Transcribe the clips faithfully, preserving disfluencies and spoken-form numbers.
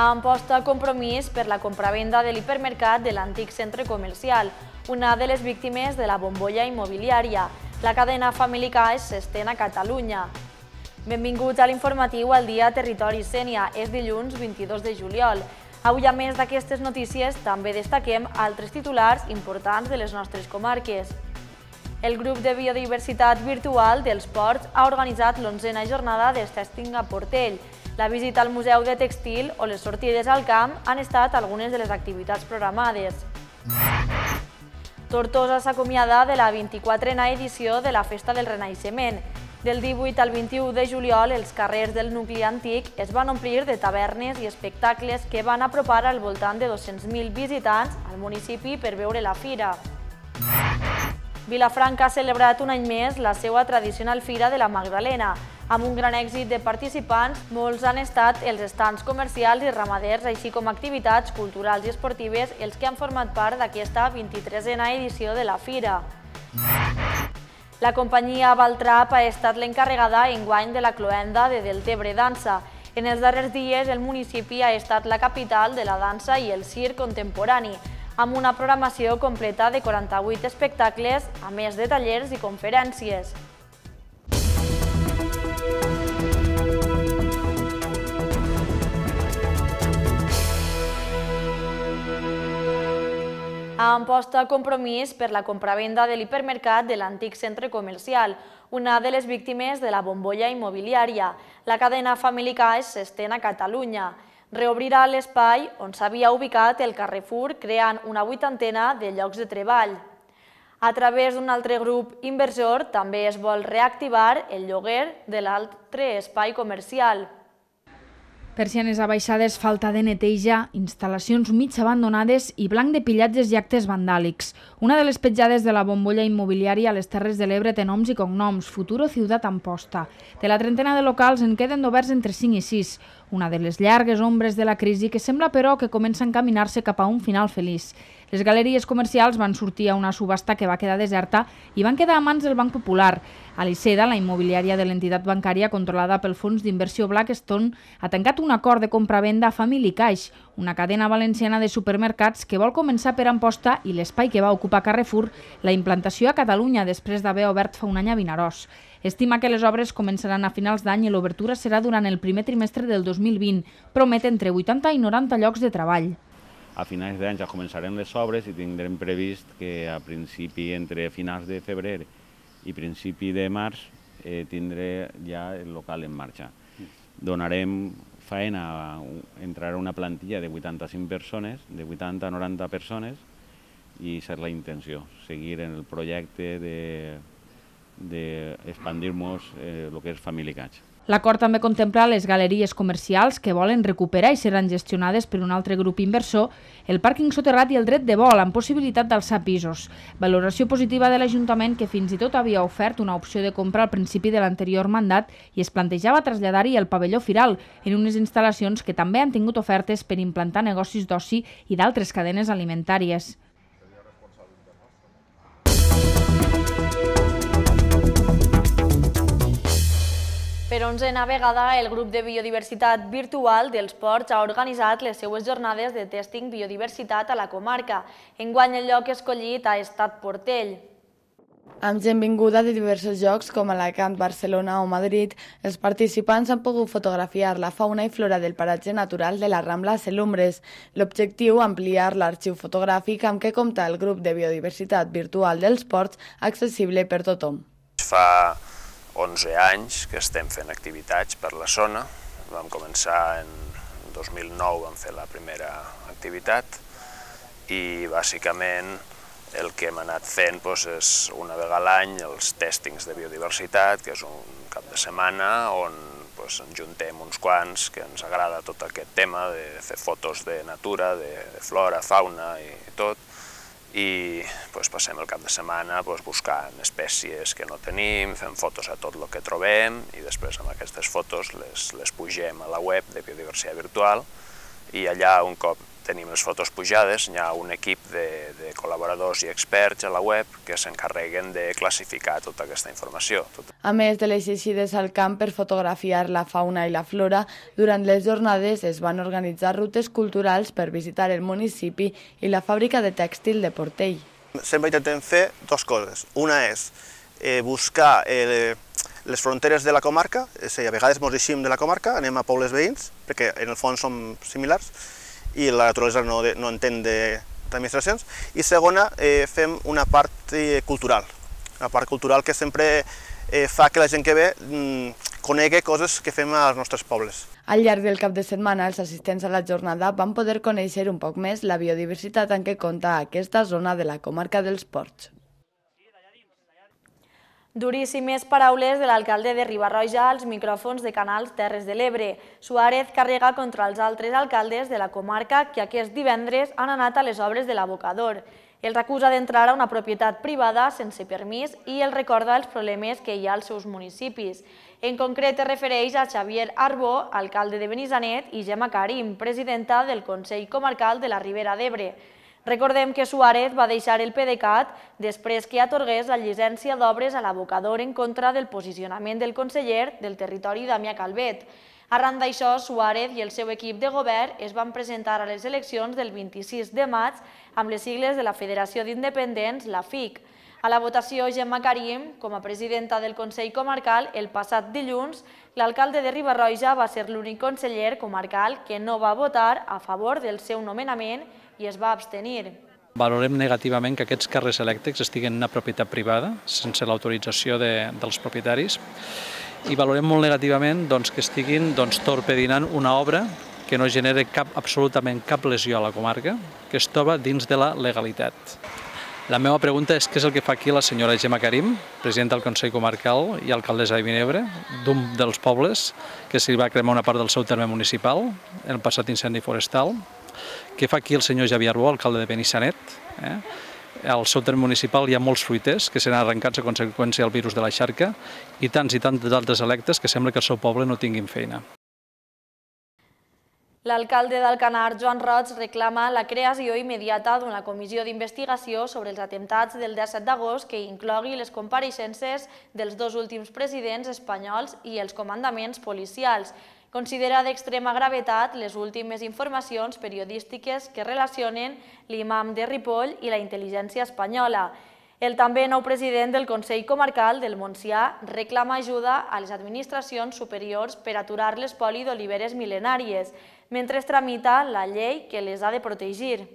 a Amposta Compromís per la compravenda de l'hipermercat de l'antic centre comercial, una de les víctimes de la bombolla immobiliària. La cadena Family Cash s'estén a Catalunya. Benvinguts a l'informatiu al dia Territori Sénia. És dilluns vint-i-dos de juliol. Avui, a més d'aquestes notícies, també destaquem altres titulars importants de les nostres comarques. El grup de biodiversitat virtual dels Ports ha organitzat l'onzena jornada de Testing a Portell. La visita al Museu de Tèxtil o les sortides al camp han estat algunes de les activitats programades. Tortosa s'acomiada de la vint-i-quatrena edició de la Festa del Renaixement. Del divuit al vint-i-u de juliol, els carrers del nucli antic es van omplir de tavernes i espectacles que van apropar al voltant de dos-cents mil visitants al municipi per veure la fira. Vilafranca ha celebrat un any més la seva tradicional Fira de la Magdalena. Amb un gran èxit de participants, molts han estat els estands comercials i ramaders, així com activitats culturals i esportives, els que han format part d'aquesta vint-i-tresena edició de la fira. La companyia Valtrap ha estat l'encarregada enguany de la cloenda de Deltebre Dansa. En els darrers dies, el municipi ha estat la capital de la dansa i el circ contemporani, amb una programació completa de quaranta-vuit espectacles, a més de tallers i conferències. A Amposta Compromís per la compravenda de l'hipermercat de l'antic centre comercial, una de les víctimes de la bombolla immobiliària. La cadena Family Cash s'estén a Catalunya. Reobrirà l'espai on s'havia ubicat el Carrefour, creant una vuitantena de llocs de treball. A través d'un altre grup inversor també es vol reactivar el lloguer de l'altre espai comercial. Persianes abaixades, falta de neteja, instal·lacions mig abandonades i blanc de pillatges i actes vandàlics. Una de les petjades de la bombolla immobiliària a les Terres de l'Ebre té noms i cognoms, Futuro Ciutat Amposta. De la trentena de locals en queden oberts entre cinc i sis, una de les llargues ombres de la crisi que sembla però que comença a encaminar-se cap a un final feliç. Les galeries comercials van sortir a una subhasta que va quedar deserta i van quedar a mans del Banc Popular. Aliceda, la immobiliària de l'entitat bancària controlada pel fons d'inversió Blackstone, ha tancat un acord de compra-venda a Family Cash, una cadena valenciana de supermercats que vol començar per Amposta i l'espai que va ocupar Carrefour, la implantació a Catalunya després d'haver obert fa un any a Vinaròs. Estima que les obres començaran a finals d'any i l'obertura serà durant el primer trimestre del dos mil vint. Promet entre vuitanta i noranta llocs de treball. A finals d'any ja començarem les obres i tindrem previst que a principi, entre finals de febrer i principi de març, eh, tindré ja el local en marxa. Donarem feina, entrarà una plantilla de vuitanta-cinc persones, de vuitanta a noranta persones, i serà la intenció, seguir en el projecte de d'expandir-nos el que és Family Cash. L'acord també contempla les galeries comercials que volen recuperar i seran gestionades per un altre grup inversor, el pàrquing soterrat i el dret de vol, amb possibilitat d'alçar pisos. Valoració positiva de l'Ajuntament, que fins i tot havia ofert una opció de compra al principi de l'anterior mandat i es plantejava traslladar-hi el pavelló Firal, en unes instal·lacions que també han tingut ofertes per implantar negocis d'oci i d'altres cadenes alimentàries. Per onzena vegada, el grup de biodiversitat virtual dels Ports ha organitzat les seues jornades de testing biodiversitat a la comarca. Enguany el lloc escollit ha estat Portell. Amb gent vinguda de diversos llocs com Alacant, Barcelona o Madrid, els participants han pogut fotografiar la fauna i flora del paratge natural de la Rambla Selumbres. L'objectiu, ampliar l'arxiu fotogràfic amb què compta el grup de biodiversitat virtual dels Ports, accessible per tothom. Fa onze anys que estem fent activitats per la zona. Vam començar en dos mil nou, vam fer la primera activitat i bàsicament el que hem anat fent és una vegada a l'any els tèstings de biodiversitat, que és un cap de setmana on ens juntem uns quants que ens agrada tot aquest tema de fer fotos de natura, de flora, fauna i tot, i passem el cap de setmana buscant espècies que no tenim, fem fotos a tot el que trobem i després amb aquestes fotos les pugem a la web de biodiversitat virtual i allà un cop tenim les fotos pujades, hi ha un equip de, de col·laboradors i experts a la web que s'encarreguen de classificar tota aquesta informació. A més de les eixides al camp per fotografiar la fauna i la flora, durant les jornades es van organitzar rutes culturals per visitar el municipi i la fàbrica de tèxtil de Portell. Sempre intentem fer dues coses. Una és eh, buscar eh, les fronteres de la comarca, és a dir, a vegades ens eixim de la comarca, anem a pobles veïns, perquè en el fons som similars, i la naturalesa no, de, no entén d'administracions. I segona, eh, fem una part eh, cultural, una part cultural que sempre eh, fa que la gent que ve mm, conegui coses que fem als nostres pobles. Al llarg del cap de setmana, els assistents a la jornada van poder conèixer un poc més la biodiversitat en què compta aquesta zona de la comarca dels Ports. Duríssimes paraules de l'alcalde de Riba-roja als micròfons de Canals Terres de l'Ebre. Suárez carrega contra els altres alcaldes de la comarca que aquest divendres han anat a les obres de l'abocador. Els acusa d'entrar a una propietat privada sense permís i els recorda els problemes que hi ha als seus municipis. En concret, es refereix a Xavier Arbó, alcalde de Benissanet, i Gemma Karim, presidenta del Consell Comarcal de la Ribera d'Ebre. Recordem que Suárez va deixar el PDeCAT després que atorgués la llicència d'obres a l'abocador en contra del posicionament del conseller del territori Damià Calvet. Arran d'això, Suárez i el seu equip de govern es van presentar a les eleccions del vint-i-sis de maig amb les sigles de la Federació d'Independents, la F I C. A la votació, Gemma Karim, com a presidenta del Consell Comarcal, el passat dilluns, l'alcalde de Riba-roja va ser l'únic conseller comarcal que no va votar a favor del seu nomenament i es va abstenir. Valorem negativament que aquests càrrecs elèctrics estiguin en una propietat privada, sense l'autorització de, dels propietaris, i valorem molt negativament doncs, que estiguin doncs, torpedinant una obra que no genera cap, absolutament cap lesió a la comarca, que es troba dins de la legalitat. La meva pregunta és què és el que fa aquí la senyora Gemma Karim, presidenta del Consell Comarcal i alcaldessa de Vinebre, d'un dels pobles que s'hi va cremar una part del seu terme municipal en el passat incendi forestal. Què fa aquí el senyor Xavier Arbó, alcalde de Benissanet? Eh? Al seu terme municipal hi ha molts fruiters que seran arrencats a conseqüència del virus de la xarca i tants i tants altres electes que sembla que al seu poble no tinguin feina. L'alcalde d'Alcanar, Joan Roig, reclama la creació immediata d'una comissió d'investigació sobre els atemptats del disset d'agost que inclogui les compareixences dels dos últims presidents espanyols i els comandaments policials. Considera d'extrema gravetat les últimes informacions periodístiques que relacionen l'imam de Ripoll i la intel·ligència espanyola. El també nou president del Consell Comarcal del Montsià reclama ajuda a les administracions superiors per aturar l'espoli d'oliveres mil·lenàries, mentre es tramita la llei que les ha de protegir.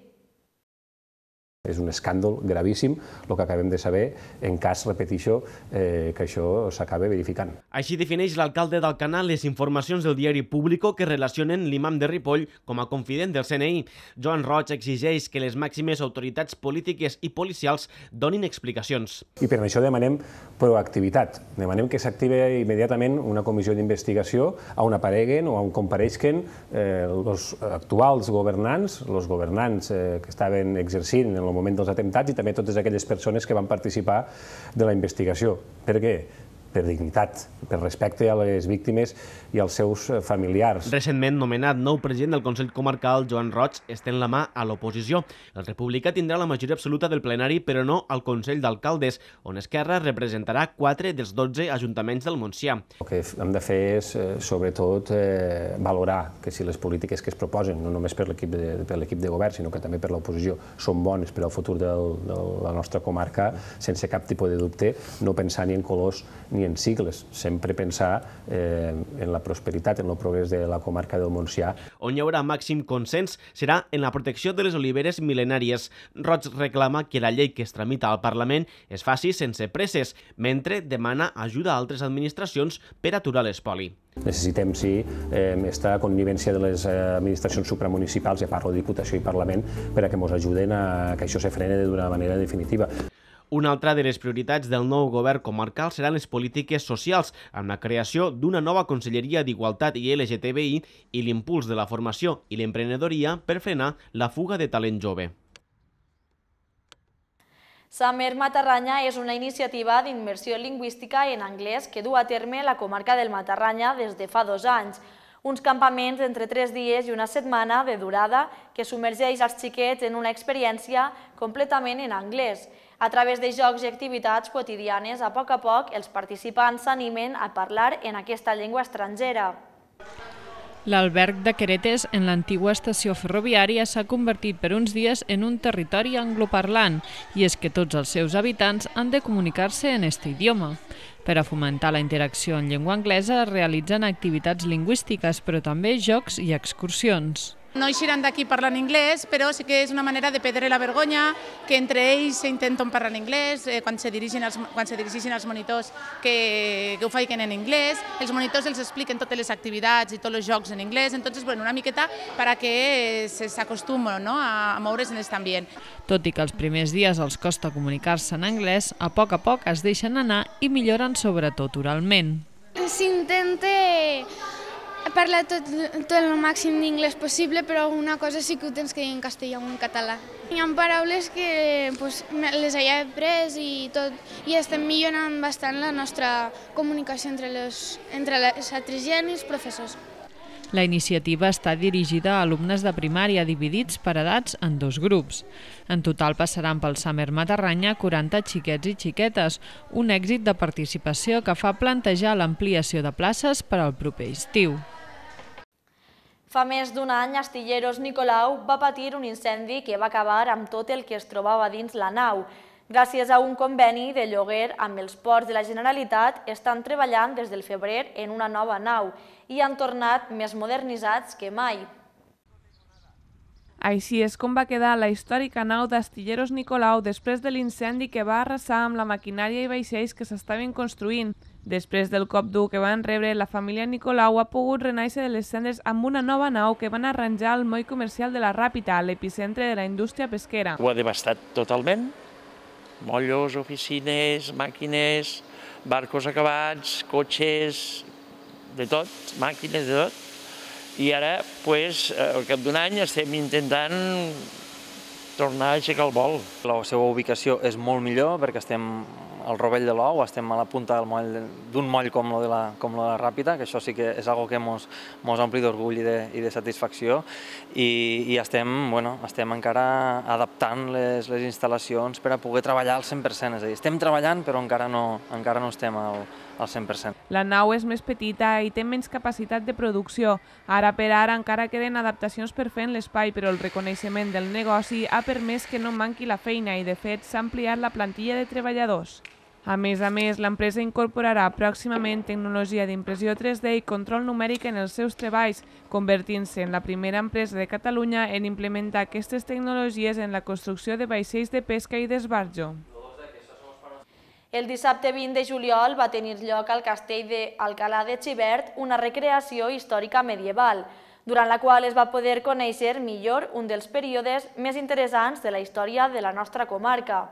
És un escàndol gravíssim el que acabem de saber en cas, repeteixo, eh, que això s'acabe verificant. Així defineix l'alcalde d'Alcanar les informacions del diari Público que relacionen l'imam de Ripoll com a confident del C N I. Joan Roig exigeix que les màximes autoritats polítiques i policials donin explicacions. I per això demanem proactivitat. Demanem que s'active immediatament una comissió d'investigació on apareguen o on compareixen eh, els actuals governants, els governants eh, que estaven exercint en el moment dels atemptats i també totes aquelles persones que van participar de la investigació. Per què? Per dignitat, per respecte a les víctimes i als seus familiars. Recentment nomenat nou president del Consell Comarcal, Joan Roig, estén la mà a l'oposició. El republicà tindrà la majoria absoluta del plenari, però no al Consell d'Alcaldes, on Esquerra representarà quatre dels dotze ajuntaments del Montsià. El que hem de fer és, sobretot, valorar que si les polítiques que es proposen, no només per l'equip de, per l'equip de govern, sinó que també per l'oposició, són bones per al futur del, de la nostra comarca, sense cap tipus de dubte, no pensar ni en colors ni en sigles, sempre pensar eh, en la prosperitat, en el progrés de la comarca del Montsià. On hi haurà màxim consens serà en la protecció de les oliveres mil·lenàries. Roig reclama que la llei que es tramita al Parlament es faci sense presses, mentre demana ajuda a altres administracions per aturar l'espoli. Necessitem, sí, eh, esta connivència de les administracions supramunicipals, ja parlo de Diputació i Parlament, per a que ens ajuden a que això se frene d'una manera definitiva. Una altra de les prioritats del nou govern comarcal seran les polítiques socials, amb la creació d'una nova Conselleria d'Igualtat i L G T B I i l'impuls de la formació i l'emprenedoria per frenar la fuga de talent jove. Summer Matarranya és una iniciativa d'immersió lingüística en anglès que du a terme la comarca del Matarranya des de fa dos anys. uns campaments entre tres dies i una setmana de durada que submergeix els xiquets en una experiència completament en anglès. A través de jocs i activitats quotidianes, a poc a poc, els participants s'animen a parlar en aquesta llengua estrangera. L'alberg de Queretes, en l'antigua estació ferroviària, s'ha convertit per uns dies en un territori angloparlant, i és que tots els seus habitants han de comunicar-se en aquest idioma. Per a fomentar la interacció en llengua anglesa es realitzen activitats lingüístiques, però també jocs i excursions. No eixiran d'aquí parlant anglès, però sí que és una manera de perdre la vergonya, que entre ells s'intenten parlar en anglès, eh, quan se dirigin als, quan se dirigeixin als monitors que, que ho facin en anglès, els monitors els expliquen totes les activitats i tots els jocs en anglès, entonces, bueno, una miqueta per que s'acostumen, no?, a, a moure's en aquest ambient. Tot i que els primers dies els costa comunicar-se en anglès, a poc a poc es deixen anar i milloren sobretot oralment. S'intenta parlar tot, tot el màxim d'inglès possible, però alguna cosa sí que ho tens que dir en castellà o en català. Hi ha paraules que pues, les he après i tot, i estem millorant bastant la nostra comunicació entre les, entre les altres gent i els professors. La iniciativa està dirigida a alumnes de primària dividits per edats en dos grups. En total passaran pel Summer Matarranya quaranta xiquets i xiquetes, un èxit de participació que fa plantejar l'ampliació de places per al proper estiu. Fa més d'un any, Astilleros Nicolau va patir un incendi que va acabar amb tot el que es trobava dins la nau. Gràcies a un conveni de lloguer amb els ports de la Generalitat, estan treballant des del febrer en una nova nau i han tornat més modernitzats que mai. Així és com va quedar la històrica nau d'Astilleros Nicolau després de l'incendi que va arrasar amb la maquinària i vaixells que s'estaven construint. Després del cop dur que van rebre, la família Nicolau ha pogut renaixer de les cendres amb una nova nau que van arranjar al moll comercial de la Ràpita, a l'epicentre de la indústria pesquera. Ho ha devastat totalment. Mollos, oficines, màquines, barcos acabats, cotxes, de tot, màquines, de tot. I ara, pues, al cap d'un any, estem intentant tornar a aixecar el vol. La seva ubicació és molt millor perquè estem al rovell de l'ou, estem a la punta d'un moll com la de la, com la de la Ràpita, que això sí que és una cosa que ens ompli d'orgull i, de, i de satisfacció, i, i estem, bueno, estem encara adaptant les, les instal·lacions per a poder treballar al cent per cent, és a dir, estem treballant però encara no, encara no estem al, al cent per cent. La nau és més petita i té menys capacitat de producció. Ara per ara encara queden adaptacions per fer en l'espai, però el reconeixement del negoci ha permès que no manqui la feina i, de fet, s'ha ampliat la plantilla de treballadors. A més a més, l'empresa incorporarà pròximament tecnologia d'impressió tres D i control numèric en els seus treballs, convertint-se en la primera empresa de Catalunya en implementar aquestes tecnologies en la construcció de vaixells de pesca i d'esbarjo. El dissabte vint de juliol va tenir lloc al castell d'Alcalà de Xivert una recreació històrica medieval, durant la qual es va poder conèixer millor un dels períodes més interessants de la història de la nostra comarca.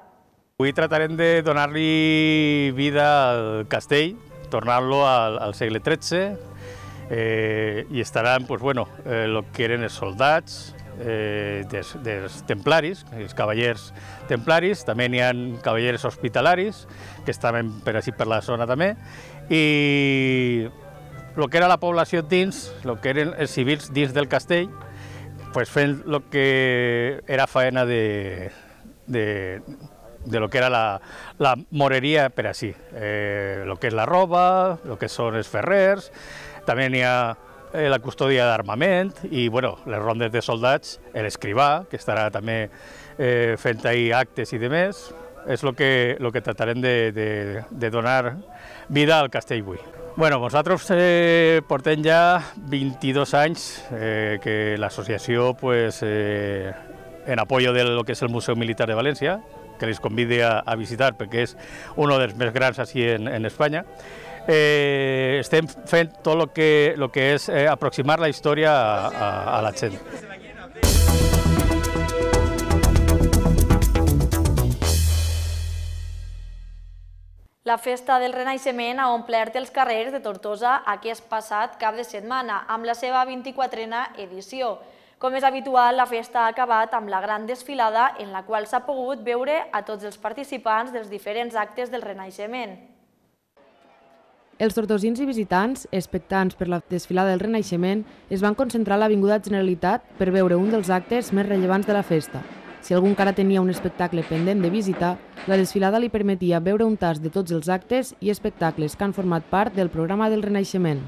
Avui tratarem de donar-li vida al castell, tornar-lo al, al segle tretze, eh, i estaran pues, bueno, eh, lo que eren els soldats, eh, dels, dels templaris, els cavallers templaris, també n'hi ha cavallers hospitalaris, que estaven per així per la zona també, i el que era la població dins, el que eren els civils dins del castell, pues, fent el que era faena de, de de lo que era la, la moreria per així, eh, lo que és la roba, lo que són els ferrers, també n'hi ha eh, la custòdia d'armament i bueno, les rondes de soldats, l'escrivà, que estarà també eh, fent ahí actes i demés, és el que, lo que tratarem de, de, de donar vida al castell avui. Bueno, nosaltres eh, portem ja vint-i-dos anys eh, que l'associació, pues, eh, en apoyo de lo que és el Museu Militar de València, que les convide a, a visitar perquè és un dels més grans així en, en Espanya. Eh, estem fent tot el que, lo que és eh, aproximar la història a, a, a la gent. La Festa del Renaixement ha omplert els carrers de Tortosa aquest passat cap de setmana amb la seva vint-i-quatrena edició. Com és habitual, la festa ha acabat amb la gran desfilada en la qual s'ha pogut veure a tots els participants dels diferents actes del Renaixement. Els tortosins i visitants, expectants per la desfilada del Renaixement, es van concentrar a l'Avinguda Generalitat per veure un dels actes més rellevants de la festa. Si algú encara tenia un espectacle pendent de visitar, la desfilada li permetia veure un tast de tots els actes i espectacles que han format part del programa del Renaixement.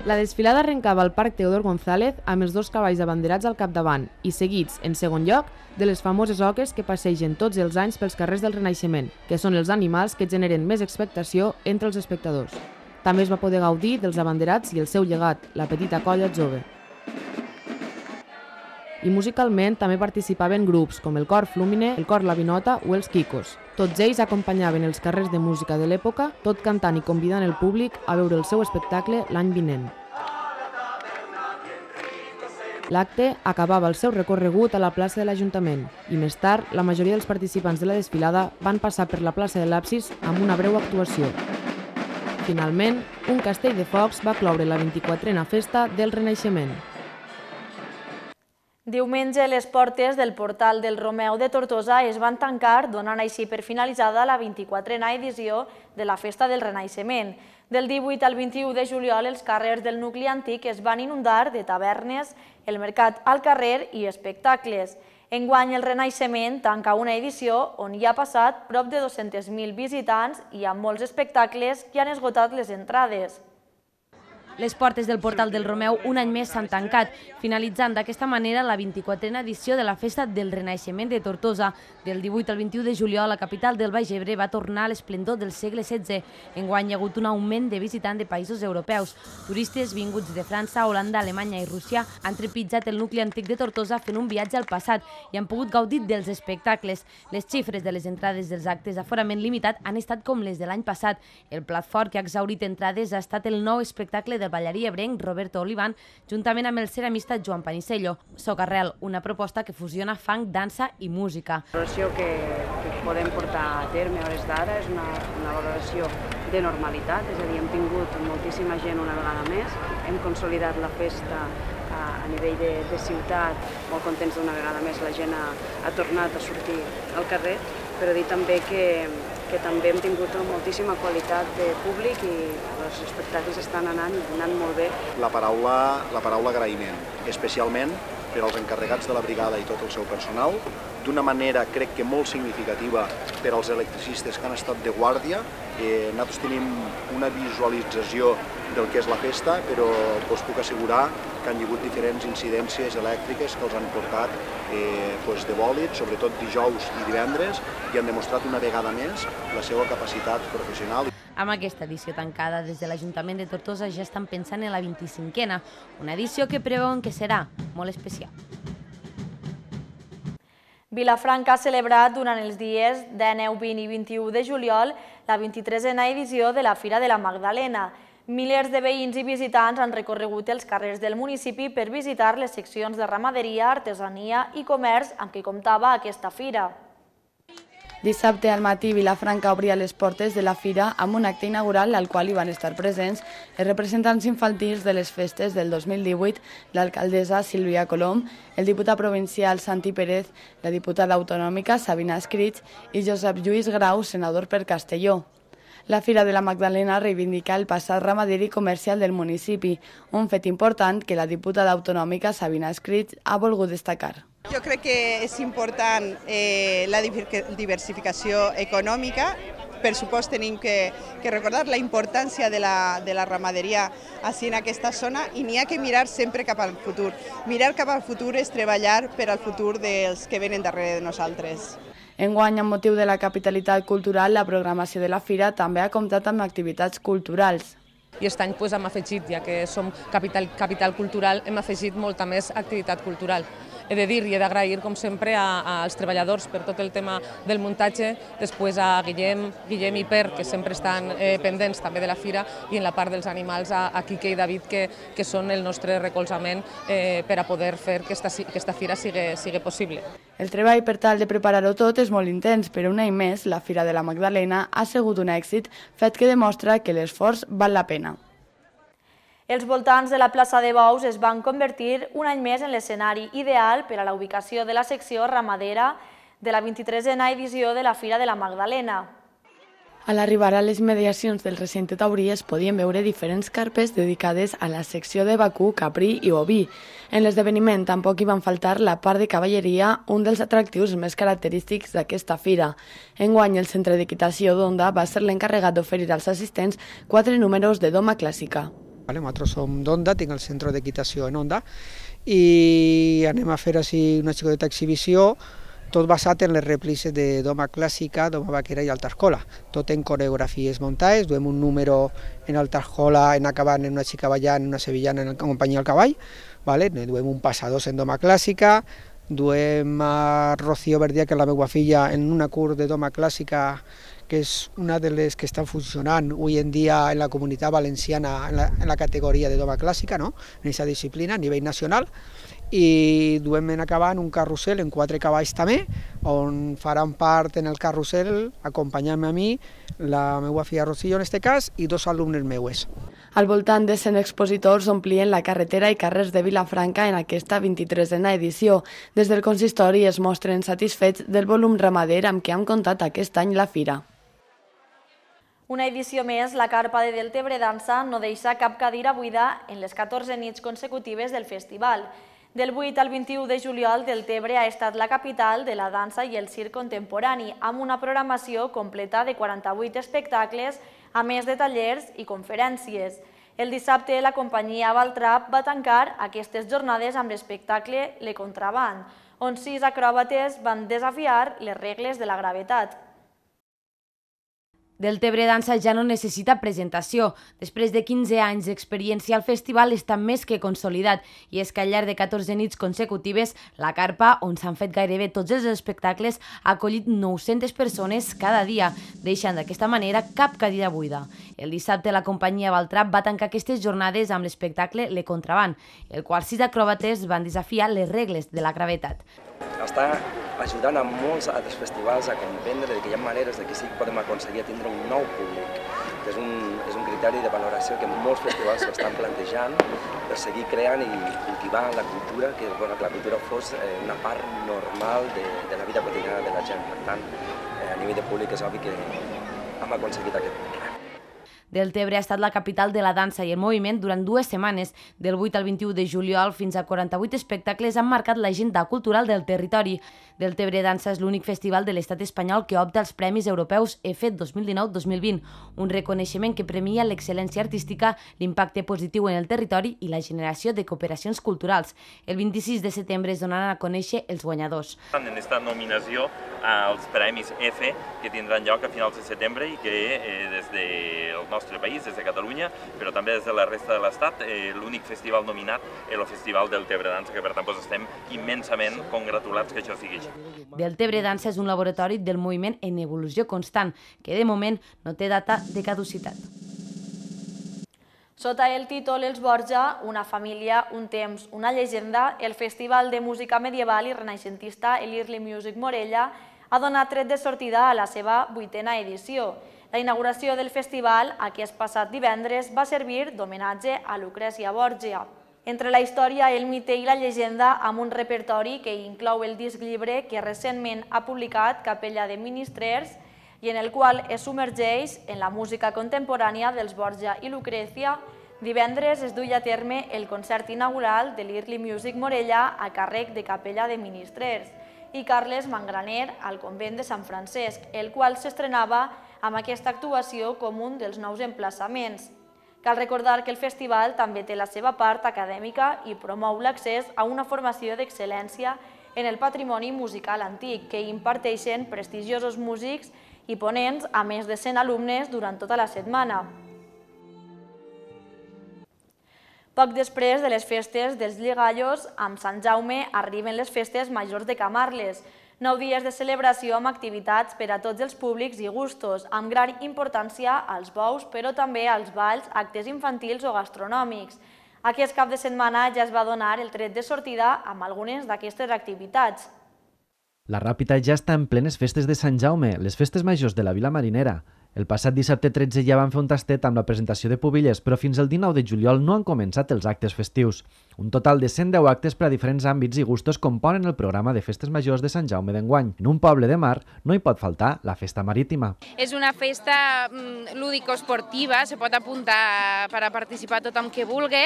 La desfilada arrencava al Parc Teodor González amb els dos cavalls abanderats al capdavant i seguits, en segon lloc, de les famoses oques que passegen tots els anys pels carrers del Renaixement, que són els animals que generen més expectació entre els espectadors. També es va poder gaudir dels abanderats i el seu llegat, la petita colla jove. I musicalment també participaven grups com el Cor Flúmine, el Cor La Vinota o els Quicos. Tots ells acompanyaven els carrers de música de l'època, tot cantant i convidant el públic a veure el seu espectacle l'any vinent. L'acte acabava el seu recorregut a la plaça de l'Ajuntament i més tard la majoria dels participants de la desfilada van passar per la plaça de l'Absis amb una breu actuació. Finalment, un castell de focs va cloure la vint-i-quatrena festa del Renaixement. Diumenge, les portes del portal del Romeu de Tortosa es van tancar, donant així per finalitzada la vint-i-quatrena edició de la Festa del Renaixement. Del divuit al vint-i-u de juliol, els carrers del nucli antic es van inundar de tavernes, el mercat al carrer i espectacles. Enguany, el Renaixement tanca una edició on hi ha passat prop de dos-cents mil visitants i amb molts espectacles que han esgotat les entrades. Les portes del portal del Romeu un any més s'han tancat, finalitzant d'aquesta manera la vint-i-quatrena edició de la Festa del Renaixement de Tortosa. Del divuit al vint-i-u de juliol, la capital del Baix Ebre va tornar a l'esplendor del segle setze. Enguany hi ha hagut un augment de visitants de països europeus. Turistes vinguts de França, Holanda, Alemanya i Rússia han trepitjat el nucli antic de Tortosa fent un viatge al passat i han pogut gaudir dels espectacles. Les xifres de les entrades dels actes d'aforament limitat han estat com les de l'any passat. El plat fort que ha exhaurit entrades ha estat el nou espectacle del ballarí ebrenc Roberto Olivan, juntament amb el ceramista Joan Panicello. Socarrel, una proposta que fusiona funk, dansa i música. La valoració que, que podem portar a terme a hores d'ara és una, una valoració de normalitat, és a dir, hem tingut moltíssima gent una vegada més, hem consolidat la festa a, a nivell de, de ciutat, molt contents d'una vegada més, la gent ha, ha tornat a sortir al carrer, però dir també que que també hem tingut moltíssima qualitat de públic i els espectacles estan anant i anant molt bé. La paraula, la paraula agraïment, especialment per als encarregats de la brigada i tot el seu personal, d'una manera crec que molt significativa per als electricistes que han estat de guàrdia. Eh, nosaltres tenim una visualització del que és la festa, però us puc assegurar que han hi hagut diferents incidències elèctriques que els han portat eh, doncs de bòlit, sobretot dijous i divendres, i han demostrat una vegada més la seva capacitat professional. Amb aquesta edició tancada, des de l'Ajuntament de Tortosa ja estan pensant en la vint-i-cinquena, una edició que preveuen que serà molt especial. Vilafranca ha celebrat durant els dies dinou, vint i vint-i-u de juliol la vint-i-tresena edició de la Fira de la Magdalena. Milers de veïns i visitants han recorregut els carrers del municipi per visitar les seccions de ramaderia, artesania i comerç amb què comptava aquesta fira. Dissabte al matí, Vilafranca obria les portes de la fira amb un acte inaugural al qual hi van estar presents els representants infantils de les festes del dos mil divuit, l'alcaldessa Sílvia Colom, el diputat provincial Santi Pérez, la diputada autonòmica Sabina Escrig i Josep Lluís Grau, senador per Castelló. La Fira de la Magdalena reivindica el passat ramader i comercial del municipi, un fet important que la diputada autonòmica Sabina Escrig ha volgut destacar. Jo crec que és important eh, la diversificació econòmica. Per supost tenim que, que recordar la importància de la, de la ramaderia així en aquesta zona i n'hi ha que mirar sempre cap al futur. Mirar cap al futur és treballar per al futur dels que venen darrere de nosaltres. Enguany, amb motiu de la capitalitat cultural, la programació de la fira també ha comptat amb activitats culturals. I aquest any hem afegit, ja que som capital, capital cultural, hem afegit molta més activitat cultural. He de dir i he d'agrair, com sempre, als treballadors per tot el tema del muntatge, després a Guillem, Guillem i Per, que sempre estan eh, pendents també de la fira, i en la part dels animals a, a Quique i David, que, que són el nostre recolzament eh, per a poder fer que aquesta, que aquesta fira sigui, sigui possible. El treball per tal de preparar-ho tot és molt intens, però un any més la Fira de la Magdalena ha sigut un èxit, fet que demostra que l'esforç val la pena. Els voltants de la plaça de Bous es van convertir un any més en l'escenari ideal per a la ubicació de la secció ramadera de la vint-i-tresena edició de la Fira de la Magdalena. A l'arribar a les mediacions del recinte taurí es podien veure diferents carpes dedicades a la secció de vacú, caprí i oví. En l'esdeveniment tampoc hi van faltar la part de cavalleria, un dels atractius més característics d'aquesta fira. Enguany, el Centre d'Equitació d'Onda va ser l'encarregat d'oferir als assistents quatre números de doma clàssica. Nosaltres som d'Onda, tinc el Centre d'Equitació en Onda, i anem a fer així una xicoteta exhibició, tot basat en les rèpliques de doma clàssica, doma vaquera i alta escola. Tot en coreografies muntades, duem un número en alta escola en acabant en una xica ballant, una sevillana en companyia del cavall, vale? Duem un passadors en doma clàssica, duem a Rocío Verdià, que és la meva filla, en una curs de doma clàssica, que és una de les que estan funcionant avui en dia en la comunitat valenciana en la, en la categoria de doma clàssica, no? En aquesta disciplina a nivell nacional, i duem en acabant un carrusel en quatre cavalls també, on faran part en el carrusel, acompanyant-me a mi, la meva filla Rocío en aquest cas, i dos alumnes meues. Al voltant de cent expositors omplien la carretera i carrers de Vilafranca en aquesta vint-i-tresena edició. Des del consistori es mostren satisfets del volum ramader amb què han comptat aquest any la fira. Una edició més, la carpa de Deltebre Dansa no deixa cap cadira buida en les catorze nits consecutives del festival. Del vuit al vint-i-u de juliol, Deltebre ha estat la capital de la dansa i el circ contemporani, amb una programació completa de quaranta-vuit espectacles, a més de tallers i conferències. El dissabte, la companyia Valtrap va tancar aquestes jornades amb l'espectacle Le Contraband, on sis acròbates van desafiar les regles de la gravetat. Deltebre Dansa ja no necessita presentació. Després de quinze anys d'experiència, el festival està més que consolidat, i és que al llarg de catorze nits consecutives, la carpa, on s'han fet gairebé tots els espectacles, ha acollit nou-centes persones cada dia, deixant d'aquesta manera cap cadira buida. El dissabte, la companyia Valtrap va tancar aquestes jornades amb l'espectacle Le Contraband, el qual sis acròbates van desafiar les regles de la gravetat. Està ajudant a molts altres festivals a comprendre que hi ha maneres de que sí que podem aconseguir tindre un nou públic, que és un, és un criteri de valoració que molts festivals s'estan plantejant per seguir creant i cultivant la cultura, que bueno, que la cultura fos eh, una part normal de, de la vida quotidiana de la gent. Per tant, eh, a nivell de públic és obvi que hem aconseguit aquest punt. Deltebre ha estat la capital de la dansa i el moviment durant dues setmanes. Del vuit al vint-i-u de juliol, fins a quaranta-vuit espectacles han marcat l'agenda cultural del territori. Deltebre Dansa és l'únic festival de l'estat espanyol que opta als Premis Europeus E F E dos mil dinou dos mil vint, un reconeixement que premia l'excel·lència artística, l'impacte positiu en el territori i la generació de cooperacions culturals. El vint-i-sis de setembre es donaran a conèixer els guanyadors. En aquesta nominació als Premis E F E, que tindran lloc a finals de setembre i que eh, des del nostre país, des de Catalunya, però també des de la resta de l'Estat, eh, l'únic festival nominat és el Festival Deltebre Dansa, que per tant doncs, estem immensament congratulats que això sigui així. Deltebre Dansa és un laboratori del moviment en evolució constant, que de moment no té data de caducitat. Sota el títol Els Borja, una família, un temps, una llegenda, el Festival de Música Medieval i Renaixentista l'Early Music Morella ha donat tret de sortida a la seva vuitena edició. La inauguració del festival, aquest passat divendres, va servir d'homenatge a Lucrècia Borgia. Entre la història, el mite i la llegenda, amb un repertori que inclou el disc llibre que recentment ha publicat Capella de Ministrers i en el qual es submergeix en la música contemporània dels Borja i Lucrècia, divendres es duia a terme el concert inaugural de l'Early Music Morella a càrrec de Capella de Ministrers i Carles Mangraner al convent de Sant Francesc, el qual s'estrenava amb aquesta actuació com un dels nous emplaçaments. Cal recordar que el festival també té la seva part acadèmica i promou l'accés a una formació d'excel·lència en el patrimoni musical antic, que imparteixen prestigiosos músics i ponents a més de cent alumnes durant tota la setmana. Poc després de les festes dels Llegallos, amb Sant Jaume arriben les festes majors de Camarles, nou dies de celebració amb activitats per a tots els públics i gustos, amb gran importància als bous, però també als balls, actes infantils o gastronòmics. Aquest cap de setmana ja es va donar el tret de sortida amb algunes d'aquestes activitats. La Ràpita ja està en plenes festes de Sant Jaume, les festes majors de la Vila Marinera. El passat dissabte tretze ja van fer un tastet amb la presentació de Pubilles, però fins el dinou de juliol no han començat els actes festius. Un total de cent deu actes per a diferents àmbits i gustos componen el programa de festes majors de Sant Jaume d'enguany. En un poble de mar no hi pot faltar la festa marítima. És una festa lúdico-esportiva, se pot apuntar per a participar tothom que vulgui,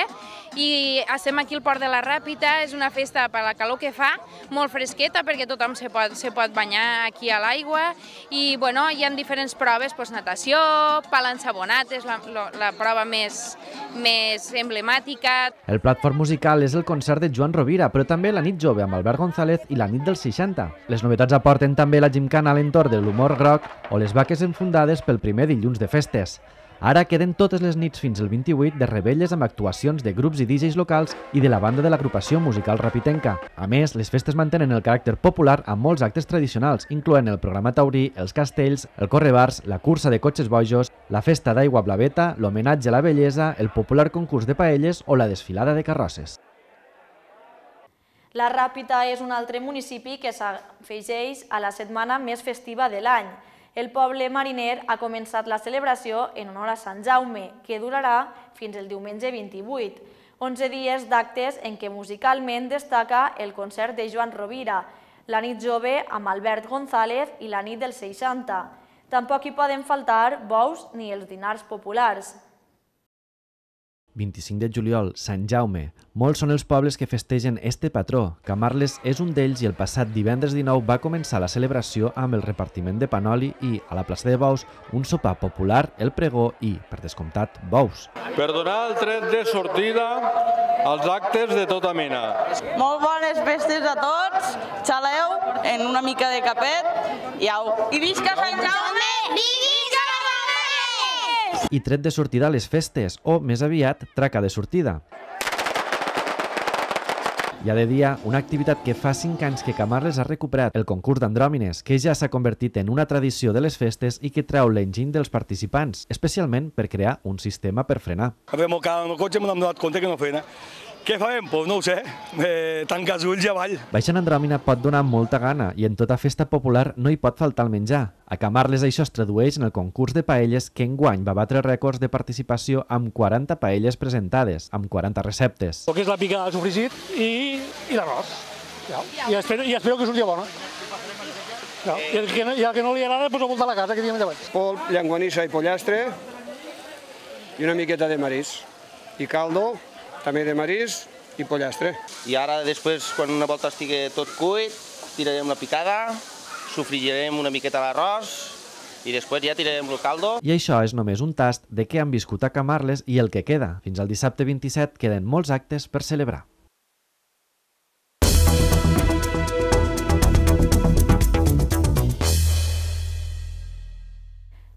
i estem aquí al Port de la Ràpita. És una festa per la calor que fa, molt fresqueta perquè tothom se pot, se pot banyar aquí a l'aigua, i bueno, hi ha diferents proves, doncs, natació, pal ensabonat és la, la, la prova més, més emblemàtica. El plat fort musical és el concert de Joan Rovira, però també la nit jove amb Albert González i la nit dels seixanta. Les novetats aporten també la gimcana a l'entorn de l'humor groc o les vaques enfundades pel primer dilluns de festes. Ara queden totes les nits fins al vint-i-vuit de rebelles amb actuacions de grups i D Js locals i de la banda de l'agrupació musical rapitenca. A més, les festes mantenen el caràcter popular amb molts actes tradicionals, incloent el programa taurí, els castells, el correbars, la cursa de cotxes bojos, la festa d'aigua blaveta, l'homenatge a la bellesa, el popular concurs de paelles o la desfilada de carrosses. La Ràpita és un altre municipi que s'afegeix a la setmana més festiva de l'any. El poble mariner ha començat la celebració en honor a Sant Jaume, que durarà fins el diumenge vint-i-vuit. onze dies d'actes en què musicalment destaca el concert de Joan Rovira, la nit jove amb Albert González i la nit dels seixanta. Tampoc hi poden faltar bous ni els dinars populars. vint-i-cinc de juliol, Sant Jaume. Molts són els pobles que festegen este patró. Camarles és un d'ells i el passat divendres dinou va començar la celebració amb el repartiment de panoli i, a la plaça de Bous, un sopar popular, el pregó i, per descomptat, bous. Per donar el tret de sortida als actes de tota mena. Molt bones festes a tots, xaleu, en una mica de capet i au. I visca Sant Jaume! Visca! I tret de sortida a les festes, o, més aviat, traca de sortida. Hi ha de dia una activitat que fa cinc anys que Camarles ha recuperat, el concurs d'andròmines, que ja s'ha convertit en una tradició de les festes i que treu l'enginy dels participants, especialment per crear un sistema per frenar. Vam al el cotxe i m'hem donat compte que no frena. Què farem? Doncs no ho sé, eh, tancar els ulls i avall. Baixar en andròmina pot donar molta gana i en tota festa popular no hi pot faltar el menjar. A Camarles això es tradueix en el concurs de paelles que enguany va batre rècords de participació amb quaranta paelles presentades, amb quaranta receptes. El que és la picada de sofregit i, i l'arròs. I, espero, I espero que surti bona. Ja. I, el que no, I el que no li agrada, doncs ho volta a la casa, que diem endavant. Polp, llenguanissa i pollastre i una miqueta de marís. I caldo, també de marís i pollastre. I ara, després, quan una volta estigui tot cuit, tirarem la picada, sofregirem una miqueta l'arròs i després ja tirarem el caldo. I això és només un tast de què han viscut a Camarles i el que queda. Fins al dissabte vint-i-set queden molts actes per celebrar.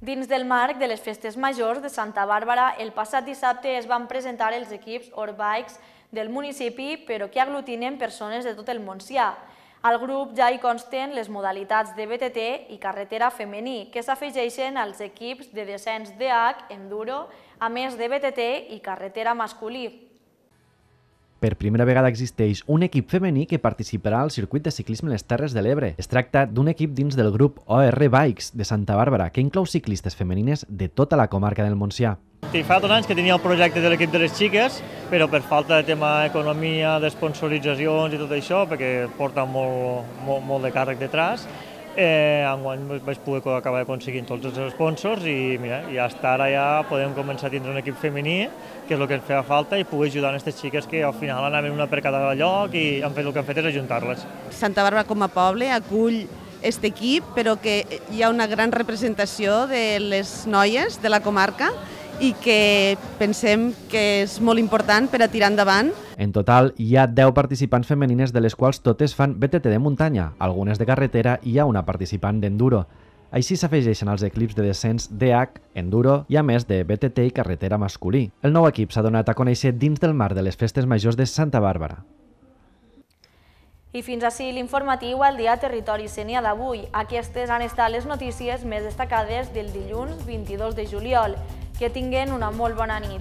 Dins del marc de les festes majors de Santa Bàrbara, el passat dissabte es van presentar els equips Orbikes del municipi, però que aglutinen persones de tot el Montsià. Al grup ja hi consten les modalitats de B T T i carretera femení, que s'afegeixen als equips de descens D H, enduro, a més de B T T i carretera masculí. Per primera vegada existeix un equip femení que participarà al circuit de ciclisme a les Terres de l'Ebre. Es tracta d'un equip dins del grup O R Bikes de Santa Bàrbara, que inclou ciclistes femenines de tota la comarca del Montsià. Fa dos anys que tenia el projecte de l'equip de les xiques, però per falta de tema economia, d'esponsoritzacions i tot això, perquè porta molt, molt, molt de càrrec detrás, Eh, enguany vaig poder acabar aconseguint tots els sponsors i mira, i hasta ara ja podem començar a tindre un equip femení, que és el que ens feia falta, i poder ajudar a aquestes xiques que al final anaven una per cada lloc i han fet el que han fet és ajuntar-les. Santa Bàrbara com a poble acull aquest equip, però que hi ha una gran representació de les noies de la comarca i que pensem que és molt important per a tirar endavant. En total, hi ha deu participants femenines, de les quals totes fan B T T de muntanya, algunes de carretera i hi ha una participant d'enduro. Així s'afegeixen als equips de descens D H, enduro i a més de B T T i carretera masculí. El nou equip s'ha donat a conèixer dins del marc de les festes majors de Santa Bàrbara. I fins així l'informatiu al dia Territori Sénia d'avui. Aquestes han estat les notícies més destacades del dilluns vint-i-dos de juliol. Que tinguen una molt bona nit.